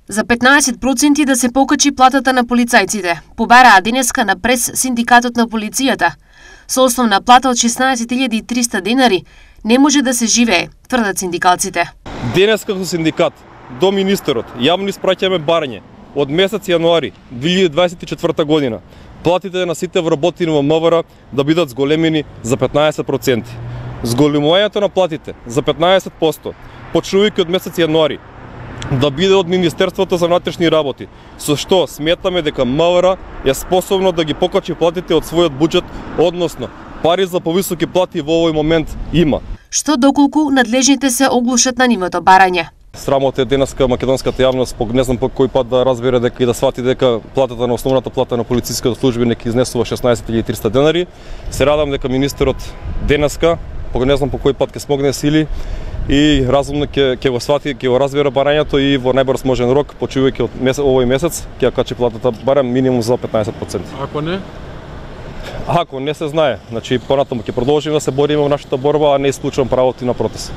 За 15% да се покачи платата на полицајците, побараа денеска на прес синдикатот на полицијата. Со основна плата од 16.300 денари не може да се живее, тврдат синдикалците. Денеска како синдикат до министерот јавно испраќаме барање од месец јануари 2024 година платите на сите вработени во МВР да бидат зголемени за 15%. Зголемувањето на платите за 15%, почнувајќи од месец јануари, да биде од Министерството за внатрешни работи, со што сметаме дека МВР е способно да ги покачи платите од својот буџет, односно пари за повисоки плати во овој момент има. Што доколку надлежните се оглушат на нивното барање. Срамота е денеска македонската јавност, не знам по кој пат да разбере дека и да свати дека платата на основната плата на полициската службеник изнесува 16.300 денари. Се радам дека министерот денеска, не знам по кој пат ќе смогне сили и разумно ќе го свати, ќе го разбере барањето и во најбрз можен рок, почувајќи од овој месец, ќе качи платата барем минимум за 15%. Ако не? Ако не се знае, значи понатаму ќе продолжиме да се бориме во нашата борба, а не исклучувам правото и на протест.